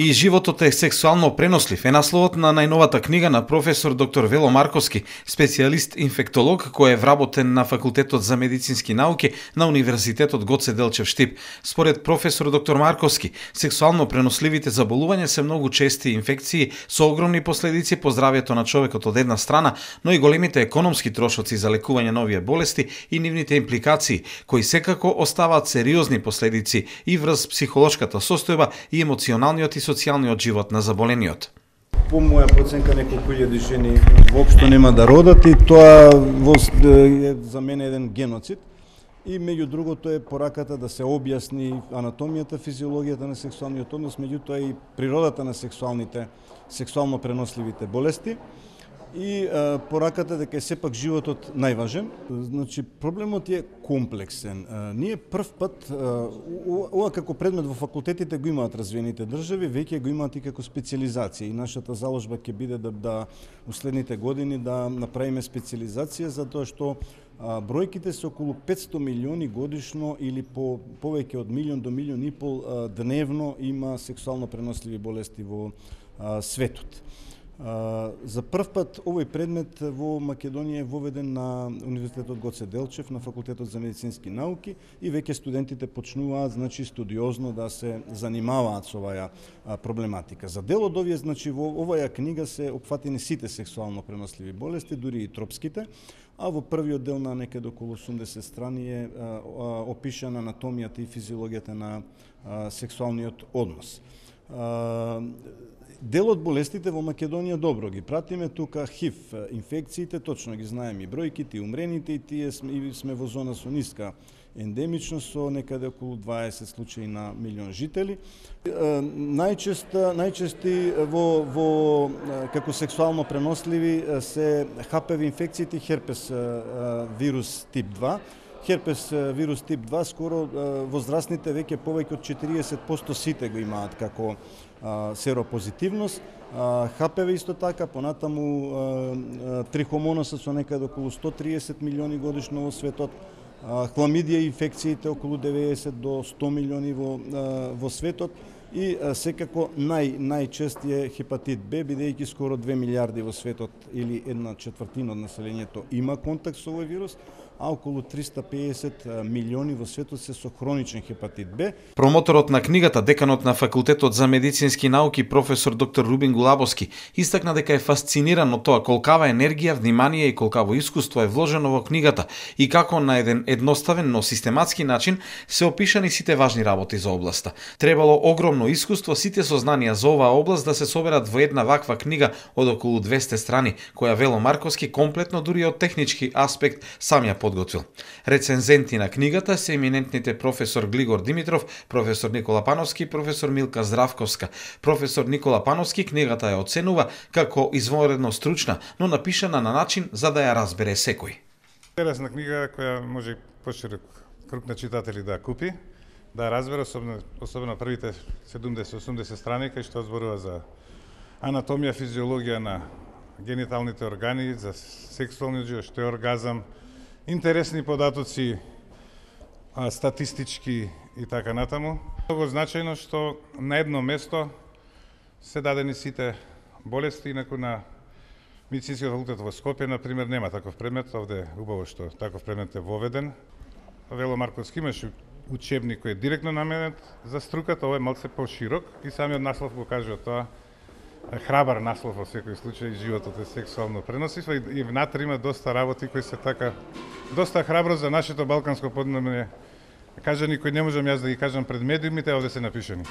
И животот е сексуално пренослив е насловот на најновата книга на професор доктор Вело Марковски, специјалист инфектолог кој е вработен на Факултетот за медицински науки на Универзитетот Гоце Делчев Штип. Според професор доктор Марковски, сексуално преносливите заболувања се многу чести инфекции со огромни последици по здравјето на човекот од една страна, но и големите економски трошоци за лекување на овие болести и нивните импликации, кои секако оставаат сериозни последици и врз психолошката состојба и емоционалниот и социјалниот живот на заболениот. По моја проценка неколку илјади жени воопшто нема да родат и тоа е за мене еден геноцид. И меѓу другото е пораката да се објасни анатомијата, физиологијата на сексуалниот однос, меѓутоа и природата на сексуално преносливите болести. И пораката дека е сепак животот најважен. Значи, проблемот е комплексен. Ние прв пат, ова како предмет во факултетите го имаат развиените држави, веќе го имаат и како специализација. И нашата заложба ќе биде да уследните години да направиме специализација, затоа што бројките се околу 500 милиони годишно или повеќе од милион до милион и пол дневно има сексуално преносливи болести во светот. За прв пат овој предмет во Македонија е воведен на Универзитетот Гоце Делчев, на Факултетот за медицински науки и веќе студентите почнуваат студиозно да се занимаваат со оваа проблематика. За дел од овие, во оваа книга се опфатени сите сексуално преносливи болести, дури и тропските, а во првиот дел на некаде околу 80 страни е опишана анатомијата и физиологијата на сексуалниот однос. Дел од болестите во Македонија добро ги пратиме, тука ХИВ инфекциите, точно ги знаеме и бројките, и умрените, и тие сме во зона со ниска ендемичност, со некаде околу 20 случаи на милион жители. Најчести како сексуално преносливи се ХПВ инфекциите, херпес вирус тип 2. Херпес вирус тип 2 скоро возрастните веќе повеќе од 40% сите го имаат како серопозитивност. ХПВ исто така, понатаму трихомоносот со некаде околу 130 милиони годишно во светот. Хламидија инфекциите околу 90 до 100 милиони во светот. И секако најчести е хепатит Б, бидејќи скоро 2 милиарди во светот или 1/4 од населението има контакт со овој вирус, а околу 350 милиони во светот се со хроничен хепатит Б. Промоторот на книгата, деканот на Факултетот за медицински науки професор доктор Рубин Гулабовски, истакна дека е фасциниран од тоа колкава енергија, внимание и колкаво искуство е вложено во книгата и како на еден едноставен, но систематски начин се опишани сите важни работи за областа. Требало огромно искуство, сите сознанија за оваа област да се соберат во една ваква книга од околу 200 страни, која Вело Марковски комплетно дури од технички аспект сам ја подготвил. Рецензенти на книгата се еминентните професор Глигор Димитров, професор Никола Пановски и професор Милка Здравковска. Професор Никола Пановски книгата ја оценува како извонредно стручна, но напишана на начин за да ја разбере секој. Интересна книга која може поширок круг на читатели да купи, да разбере, особено првите 70-80 страни, кај што зборува за анатомија, физиологија на гениталните органи, за сексуалниот живот, што е оргазам, интересни податоци, статистички и така натаму. Много значајно што на едно место се дадени сите болести, инаку на Медицинскиот факултет во Скопје, например, нема таков предмет, овде убаво што таков предмет е воведен. Вело Марковски имаше учебник кој е директно наменет за струката, ова е малце поширок и самиот наслов го кажува тоа. Храбар наслов во секој случај, животот е сексуално преносив и внатре има доста работи кои се така доста храбро за нашето балканско поднебје. Кажани кои не можам јас да ги кажам пред медиумите, овде се напишани.